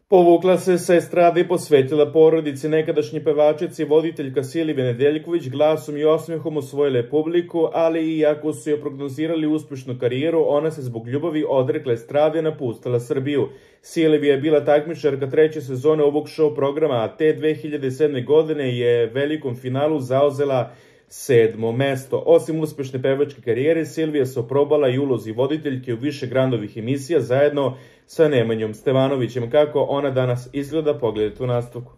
Povukla se sa estrade i posvetila porodici. Nekadašnji pevačica i voditeljka Silvija Nedeljković glasom i osmehom osvojila je publiku, ali i iako su joj prognozirali uspešnu karijeru, ona se zbog ljubavi odrekla estrade i napustila Srbiju. Silvija je bila takmičarka 3. sezone ovog show programa, a te 2007. godine je velikom finalu zauzela 7. mesto. Osim uspešne pevačke karijere, Silvija se oprobala i ulozi voditeljke u više Grandovih emisija zajedno sa Nemanjom Stevanovićem. Kako ona danas izgleda, pogledajte u nastavku.